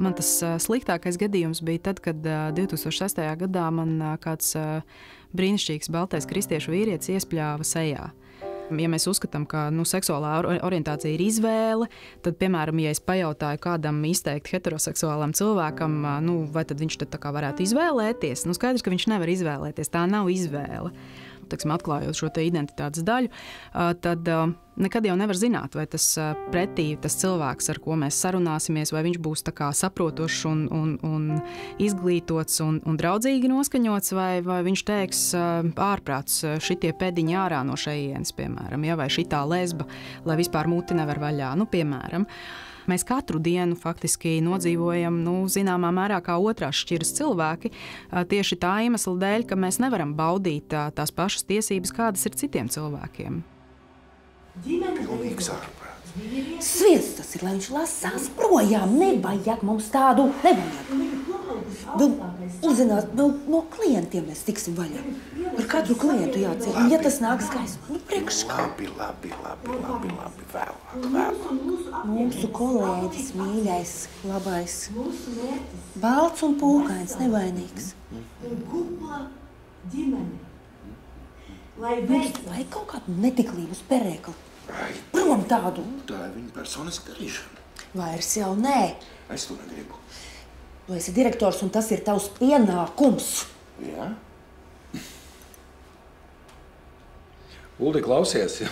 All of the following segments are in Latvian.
Man tas sliktākais gadījums bija tad, kad 2006. gadā man kāds brīnišķīgs baltais kristiešu vīrietis iespļāva sejā. Ja mēs uzskatām, ka seksuālā orientācija ir izvēle, tad, piemēram, ja es pajautāju kādam izteikti heteroseksuālam cilvēkam, vai tad viņš tad tā kā varētu izvēlēties, skaidrs, ka viņš nevar izvēlēties, tā nav izvēle. Atklājot šo identitātes daļu, tad nekad jau nevar zināt, vai tas pretī tas cilvēks, ar ko mēs sarunāsimies, vai viņš būs tā kā saprotošs un izglītots un draudzīgi noskaņots, vai viņš teiks ārprāts šitie pēdiņi ārā no šejienes, piemēram, vai šitā lesba, lai vispār muti nevar vaļā, piemēram. Mēs katru dienu faktiski nodzīvojam, zināmā mērā kā otrās šķiras cilvēki, tieši tā iemesla dēļ, ka mēs nevaram baudīt tās pašas tiesības, kādas ir citiem cilvēkiem. Pilnīgs ārprāts. Sviests tas ir, lai viņš lasās projām. Nevajag mums tādu, nevajag. Uzzināt, no klientiem mēs tiksim vaļā. Ar katru klientu jāciet. Ja tas nāks gaismā, priekš kā. Labi, vēlāk. Mūsu kolēģis, mīļais, labais. Balts un pūkains, nevainīgs. Vai kaut kādu netiklību uz perēkli. Prom tādu. Tā ir viņa personiska darīšana. Vairs jau nē. Es to negribu. Tu esi direktors un tas ir tavs pienākums. Jā? Uldi, klausies,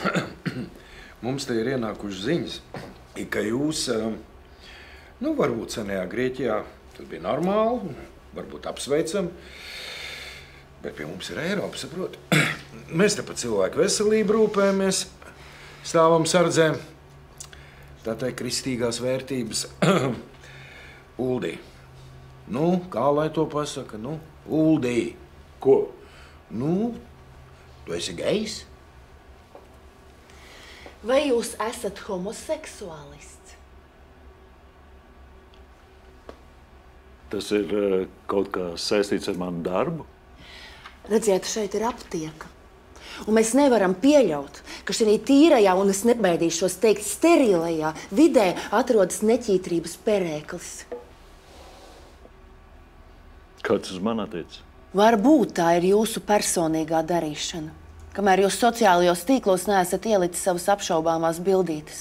mums te ir ienākušas ziņas, ka jūs, varbūt senajā Grieķijā, tas bija normāli, varbūt apsveicam, bet pie mums ir Eiropa, saprot. Mēs te par cilvēku veselību rūpējamies, stāvam sardzē, tā teikt, kristīgās vērtības. Uldi, kā lai to pasaka, Uldi. Ko? Tu esi gejs? Vai jūs esat homoseksuālists? Tas ir kaut kā saistīts ar manu darbu? Redziet, šeit ir aptieka. Un mēs nevaram pieļaut, ka šī tīrajā, un es nebaidīšos teikt, sterilajā vidē atrodas neķītrības perēklis. Kāds uz man attiec? Varbūt tā ir jūsu personīgā darīšana, kamēr jūs sociālajos tīklos neesat ielicis savas apšaubāmās bildītes.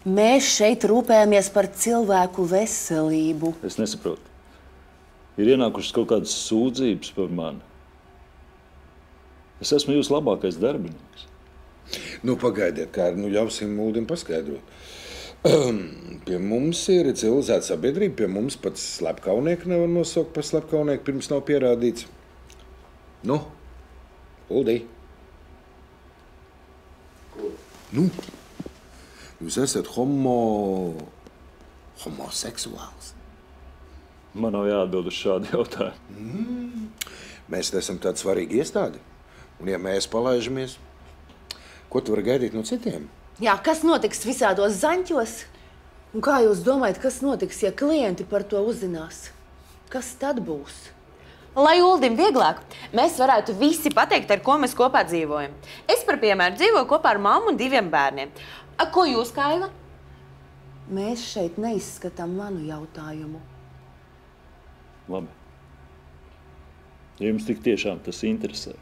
Mēs šeit rūpējamies par cilvēku veselību. Es nesaprotu. Ir ienākušas kaut kādas sūdzības par mani. Es esmu jūsu labākais darbinieks. Pagaidiet, kā ļausim Uldim paskaidrot. Pie mums ir civilizēta sabiedrība, pie mums pat slepkaunieku nevar nosaukt par slepkaunieku, pirms nav pierādīts. Uldi. Jūs esat homoseksuāls. Man nav jāatbild uz šādu jautājumu. Mēs esam tādi svarīgi iestādi. Un ja mēs palaižamies, ko tu vari gaidīt no citiem? Jā, kas notiks visādos zaņķos? Un kā jūs domājat, kas notiks, ja klienti par to uzzinās? Kas tad būs? Lai Uldim vieglāk, mēs varētu visi pateikt, ar ko mēs kopā dzīvojam. Es, par piemēru, dzīvoju kopā ar mammu un 2 bērniem. Ko jūs, Kaila? Mēs šeit neizskatām manu jautājumu. Labi. Ja jums tik tiešām tas interesē,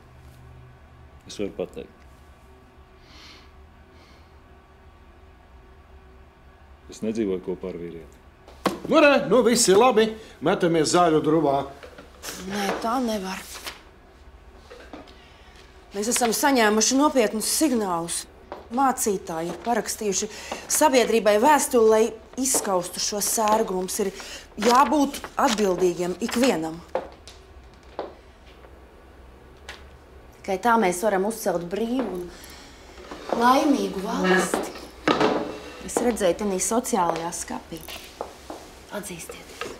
es varu pateikt. Es nedzīvoju kopā ar vīrieti. Viss ir labi. Metamies zāļu druvā. Nē, tā nevar. Mēs esam saņēmuši nopietnus signālus. Mācītāji ir parakstījuši sabiedrībai vēstuli, lai izskaustu šo sērgu. Mums ir jābūt atbildīgiem ikvienam. Tikai tā mēs varam uzcelt brīvu un laimīgu valsti. Es redzēju tenī sociālajā skapī. Atzīstieties.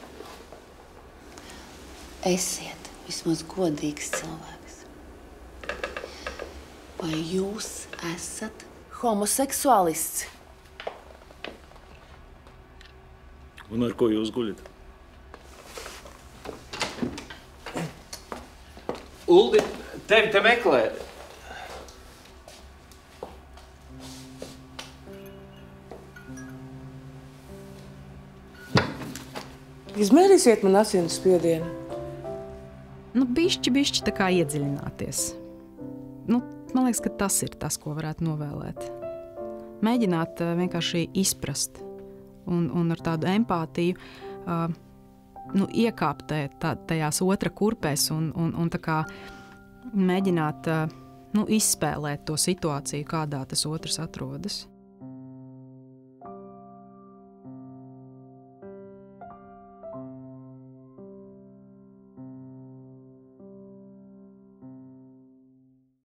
Esiet vismaz godīgs cilvēks. Vai jūs esat homoseksuālists? Un ar ko jūs guļat? Uldi, tevi te meklē. Izmērīsiet man asins spiedienu? Nu, bišķi tā kā iedziļināties. Nu, man liekas, ka tas ir tas, ko varētu novēlēt. Mēģināt vienkārši izprast un ar tādu empātiju iekāpt tajās otra kurpēs un tā kā mēģināt izspēlēt to situāciju, kādā tas otrs atrodas.